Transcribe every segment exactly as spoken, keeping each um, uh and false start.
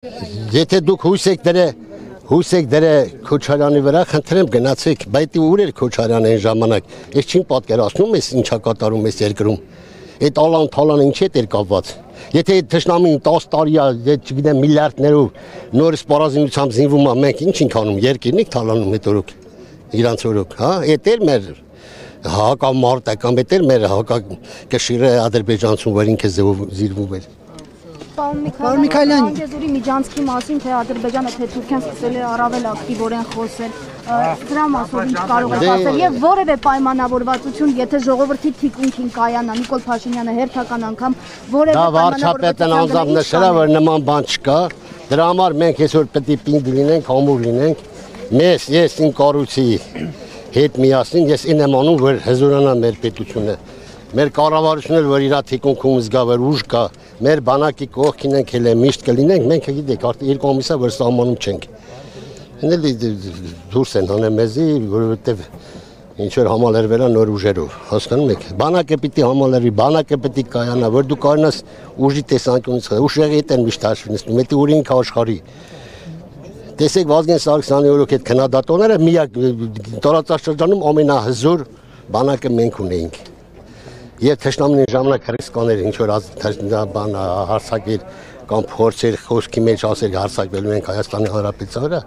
Եթե դուք հույս եք դրե, հույս եք դրե Քոչարյանի վրա, խնդրեմ գնացեք, բայց ուր էր Քոչարյանը այն ժամանակ, ես չեմ պատկերացնում ես ինչա կատարում ես երկրում, այդ ալան թալանը ինչ հետ էր կապված, եթե այդ թշնամին տասը տարի է, չգիտեմ միլիարդներով նորից պարազինությամբ զինվում է, մենք ինչ ենք անում, երկիրն եք թալանում այդ օրոք, իրանց օրոք, հա, այդ էր մեր հակամարտական, այդ էր մեր հակակշիռը ադրբեջանցուն, որ ինքը զիրվում էր։ Պարոն Միքայելյան, Անգեզուրի միջանցքի մասին, թե Ադրբեջանը, թե Թուրքիան սկսել է առավել ակտիվորեն խոսել, դրա մասով ինչ կարող եք ասել եւ որևէ պայմանավորվածություն, եթե ժողովրդի թիկունքին կայանա Նիկոլ Փաշինյանը հերթական անգամ որևէ պայմանավորվածություն անձամբ նշել է, որ նման բան չկա, դրա համար մենք այսօր պետք է պինդ լինենք, համուր լինենք, մեզ, ես իմ կառույցի հետ միասին, ես ինձ եմ անում, որ հզորանա մեր պետությունը։ Մեր կառավարությունն որ իր թիկունքում զգա որ ուժ կա, մեր բանակի կողքին ենք հենց միշտ կլինենք, մենք գիտեք, արդեն երկու ամիս է որ սահմանում չենք։ Հենց դուրս են հանել մեզի, որովհետև ինչ որ համալրվել է նոր ուժերով, հասկանում եք։ Բանակը պիտի համալրվի, բանակը պիտի կայանա, որ դու կարողանաս ուժի տեսանկյունից, ուժերի հետ են միշտ հաշվի նստում, դա ուր ինքը աշխարհի։ Տեսեք Վազգեն Սարգսյանի օրոք այդ քննադատողները միակ տարածաշրջանում ամենահզոր բանակը մենք ունեինք։ Եվ թշնամին ժամանակ ռիսկաներ ինչ որ բան հարցակեր կամ փորձեր խոսքի մեջ ասել հարցակվելու ենք Հայաստանի Հանրապետության վրա,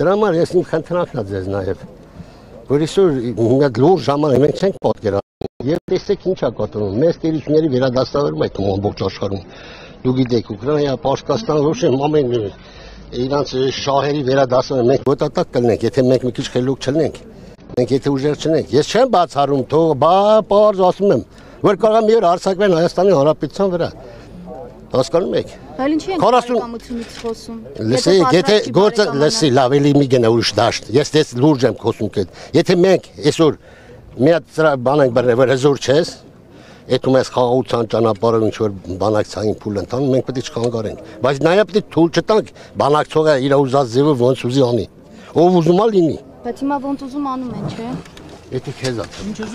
դրա համար ես իմ խնդրանքն է ձեզ նաև, որ այսօր մի հատ լուրջ ժամանակ մենք չենք պատկերացնում եւ տեսեք ինչ է կատարվում, մեծ տերությունների վերադասավորում այդ ամբողջ աշխարհում, դու գիտեք Ուկրաինա, Պարսկաստան, Ռուսիա, ամեն իրանց շահերի վերադասավորում մենք ոտնատակ կլինենք, եթե մենք մի քիչ խելոք չլինենք, մենք եթե ուժեր չլինենք, ես չեմ բացառում, թող բա պարզ ասում եմ որ կարող է մի օր հարձակվեն Հայաստանի Հանրապետության վրա։ Հասկանում եք։ Բայց ինչի են կամությունից խոսում։ Լսեք, եթե գործը լսի, լավ էլի մի գնա ուրիշ դաշտ։ Ես դες լուրջ եմ խոսում կետ։ Եթե մենք այսօր մի հատ բան ենք բռնել, որ հզոր չես, այդում ես խաղաղության ճանապարհով ինչ որ բանակցային փուլ ընթանում, մենք պետք է չխանգարենք։ Բայց նաև պետք է թույլ չտանք բանակցողը իր ուզած ձևով ոնց ուզի անի։ Ով ուզում է լինի։ Բայց հիմա ոնց ուզում անում են, չէ՞։ Եթե քեզ է։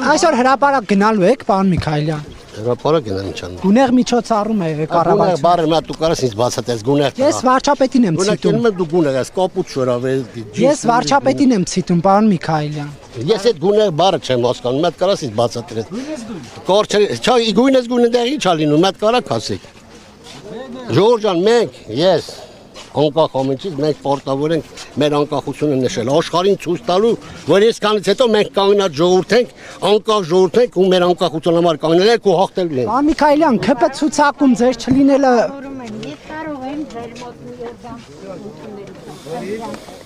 Այսօր հրապարակ գնալու եք, պարոն Միքայելյան։ Հրապարակ գնալ ինչ անում։ Գունեղ միջոցառում է կառավարությունը։ Գունեղ բառը մա դու կարաս ինձ բացատրես գունեղ։ Ես վարչապետին եմ ցիտում։ Գունեղ դու գունեղ ես, կապուտ շորավել։ Ես վարչապետին եմ ցիտում, պարոն Միքայելյան։ Ես այդ գունեղ բառը չեմ հասկանում, մատ կարաս ինձ բացատրես։ Գույնես գույն։ Չէ, գույնես գույնը դեռ ինչ ա լինում, մատ կարա ասեք։ Ժողովուրդ ջան, մենք, ես անկախ ամենից մենք պարտավոր ենք մեր անկախությունը նշել, աշխարհին ցույց տալու, որ այսքանից հետո մենք կանգնած ժողովուրդ ենք, անկախ ժողովուրդ ենք ու մեր անկախության համար կանգնել ենք ու հաղթելու ենք։ Պարոն Միքայելյան, ՔՊ ցուցակում ձեր չլինելը Ես կարող եմ ձեր մոտ մի երգամ Երևան։